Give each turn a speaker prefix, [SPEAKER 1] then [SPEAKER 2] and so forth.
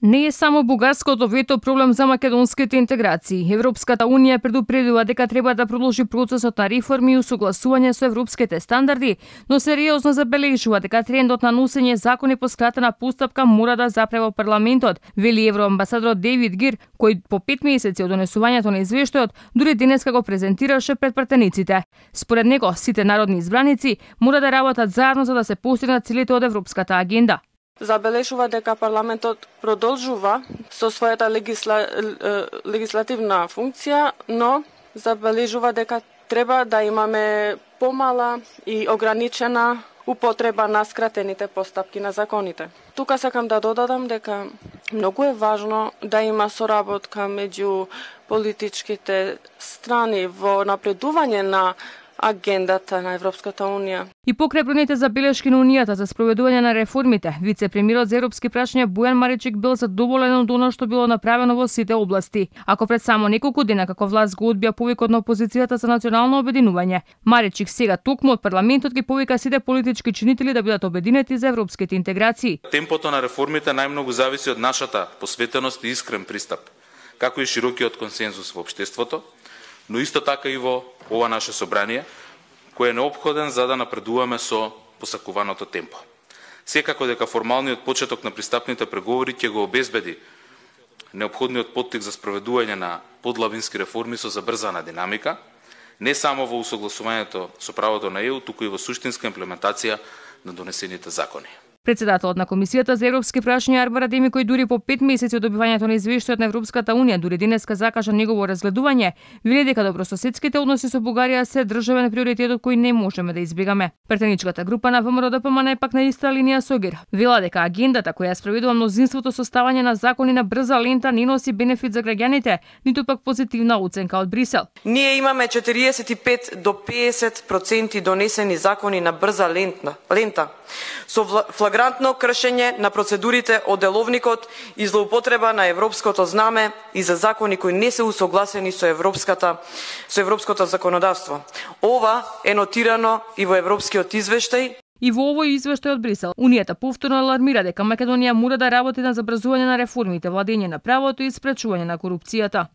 [SPEAKER 1] Не е само бугарското вето проблем за македонските интеграции. Европската унија предупредува дека треба да продолжи процесот на реформи и усогласување со европските стандарди, но сериозно забележува дека трендот на носење закони по скратена постапка мора да запре во парламентот, вели евроамбасадорот Дейвид Гир, кој по 5 месеци од донесувањето на извештајот дури денеска го презентираше пред пратениците. Според него, сите народни избраници мора да работат заедно за да се постигнат целите од европската агенда.
[SPEAKER 2] Забележува дека парламентот продолжува со својата легислативна функција, но забележува дека треба да имаме помала и ограничена употреба на скратените постапки на законите. Тука сакам да додадам дека многу е важно да има соработка меѓу политичките страни во напредување на агендата на Европската унија.
[SPEAKER 1] И покрај бројните забелешки на Унијата за спроведување на реформите, вице-премиерот за европски прашања Бојан Маричик бил задоволен од оно што било направено во сите области. Ако пред само неколку дена како власт го одбија повикот на опозицијата за национално обединување, Маричик сега токму од парламентот ги повика сите политички чинители да бидат обединети за европските интеграции.
[SPEAKER 3] Темпото на реформите најмногу зависи од нашата посветеност и искрен пристап, како и широкиот консензус во општеството, но исто така и во ова наше собрание, кој е неопходен за да напредуваме со посакуваното темпо. Секако дека формалниот почеток на пристапните преговори ќе го обезбеди неопходниот поттик за спроведување на подлабински реформи со забрзана динамика, не само во усогласувањето со правото на ЕУ, туку и во суштинска имплементација на донесените закони.
[SPEAKER 1] Председателот на Комисијата за европски прашања Арбар Адеми, кој дури по 5 месеци од добивањето на извештајот на Европската унија дури денеска закажа негово разгледување, вели дека добрососедските односи со Бугарија се државен приоритетот кој не можеме да избегаме. Претеничката група на ВМРО-ДПМН е пак на иста линија со ГИР. Вела дека агендата која спроведува мнозинството со ставање на закони на брза лента не носи бенефит за граѓаните, ниту пак позитивна оценка од Брисел.
[SPEAKER 4] Ние имаме 45 до 50% донесени закони на брза лента со флагрантно кршење на процедурите од деловникот и злоупотреба на европското знаме и за закони кои не се усогласени со европското законодавство. Ова е нотирано и во европскиот извештај.
[SPEAKER 1] И во овој извештај од Брисел, Унијата повторно алармира дека Македонија мора да работи на забрзување на реформите, владење на правото и спречување на корупцијата.